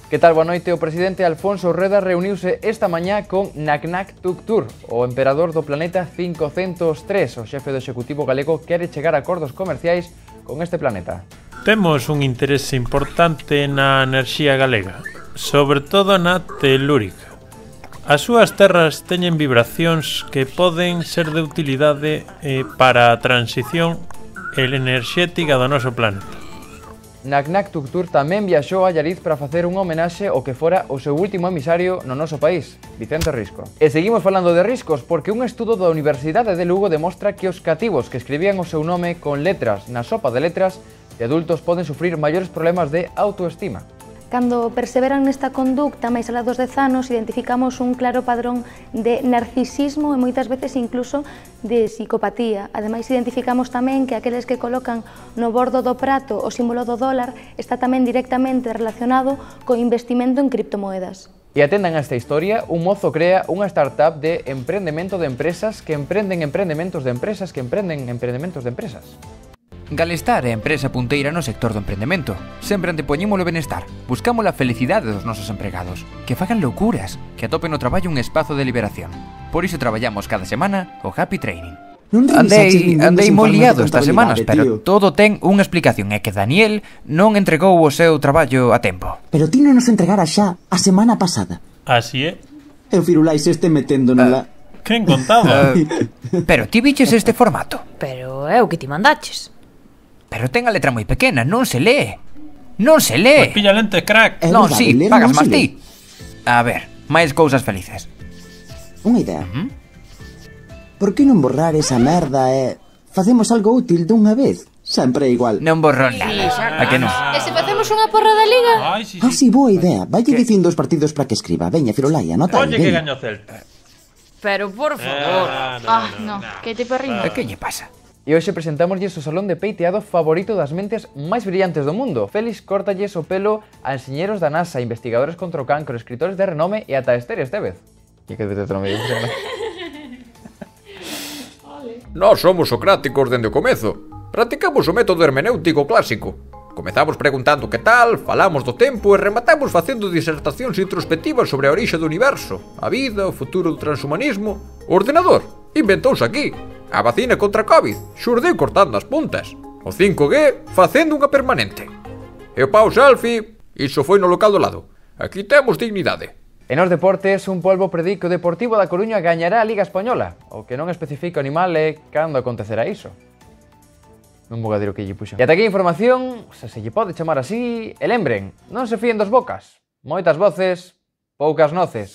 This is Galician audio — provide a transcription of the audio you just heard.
Que tal, boa noite? O presidente Alfonso Rueda reuniuse esta mañá con Naknak Tuktur, o emperador do planeta 503. O xefe do Executivo galego quere chegar a acordos comerciais con este planeta. Temos un interese importante na enerxía galega, sobre todo na telúrica. As súas terras teñen vibracións que poden ser de utilidade para a transición enerxética do noso planeta. Naknak Tuktur tamén viaxou a Allariz para facer unha homenaxe ao que fora o seu último emisario no noso país, Vicente Risco. E seguimos falando de riscos porque un estudo da Universidade de Lugo demostra que os cativos que escribían o seu nome con letras na sopa de letras de adultos poden sufrir maiores problemas de autoestima. Cando perseveran nesta conducta máis alá dos 10 anos, identificamos un claro padrón de narcisismo e moitas veces incluso de psicopatía. Ademais, identificamos tamén que aqueles que colocan no bordo do prato o símbolo do dólar está tamén directamente relacionado co investimento en criptomoedas. E atendan a esta historia, un mozo crea unha startup de emprendemento de empresas que emprenden empreendementos de empresas que emprenden empreendementos de empresas. Galestar é a empresa punteira no sector do emprendemento. Sempre antepoñemos o benestar. Buscamos a felicidade dos nosos empregados. Que fagan loucuras. Que atopen no traballo un espazo de liberación. Por iso traballamos cada semana o Happy Training. Andei moi liado estas semanas, pero todo ten unha explicación. É que Daniel non entregou o seu traballo a tempo. Pero ti non nos entregara xa a semana pasada. Así é. E o Firulais este metendo na... Quen contaba? Pero ti viches este formato? Pero é o que ti mandaches. Pero ten a letra moi pequena, non se lee. Non se lee. Pois pilla lentes, crack. Non, si, pagas máis ti. A ver, máis cousas felices. Unha idea. Por que non borrar esa merda e facemos algo útil dunha vez? Sempre é igual. Non borro nada. A que non? E se facemos unha porra da Liga? Sí, boa idea. Vaille dicindo os partidos para que escriba. Veña, Firulai, anota aí. Oye, que gaño Celta. Pero, por favor. No, que te perrindo. Que lle pasa? E hoxe presentámoslles o salón de peiteado favorito das mentes máis brillantes do mundo. Félix córtalles o pelo a enxeñeros da NASA, investigadores contra o cancro, escritores de renome e ata Esther Estevez. E que te trome. Nós somos socráticos dende o comezo. Practicamos o método hermenéutico clásico. Comezamos preguntando que tal, falamos do tempo e rematamos facendo disertacións introspectivas sobre a orixe do universo, a vida, o futuro do transhumanismo. O ordenador inventouse aquí. A vacina contra a Covid xurdiu cortando as puntas. O 5G facendo unha permanente. E o pau selfie, iso foi no local do lado. Aquí temos dignidade. E nos deportes, un polbo predi que o Deportivo da Coruña gañará a Liga Española. O que non especifica o animal é cando acontecerá iso. Non vou a dir o que lle puxo. E ata aquí a información, se lle pode chamar así, e lembren, non se fíen dos bocas. Moitas voces, poucas noces.